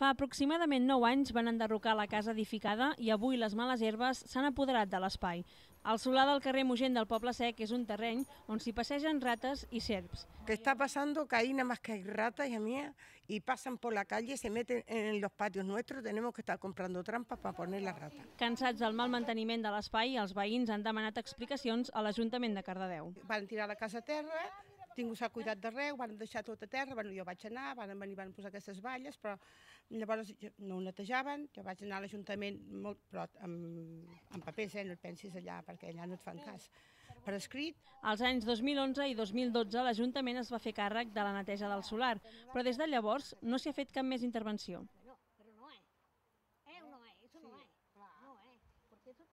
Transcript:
Fa aproximadament 9 anys van enderrocar la casa edificada i avui les males herbes s'han apoderat de l'espai. El solar del carrer Mogent del Poble Sec és un terreny on s'hi passegen rates i serps. Que está pasando que ahí nada más que hay ratas, hija mía, y pasan por la calle, se meten en los patios nuestros, tenemos que estar comprando trampas para poner las ratas. Cansats del mal manteniment de l'espai, els veïns han demanat explicacions a l'Ajuntament de Cardedeu. Van tirar la casa a terra, ningú s'ha cuidat d'arreu, van deixar tot a terra, jo vaig anar, van venir, van posar aquestes valles, però llavors no ho netejaven, jo vaig anar a l'Ajuntament, però amb papers, no et pensis allà, perquè allà no et fan cas, per escrit. Als anys 2011 i 2012 l'Ajuntament es va fer càrrec de la neteja del solar, però des de llavors no s'hi ha fet cap més intervenció.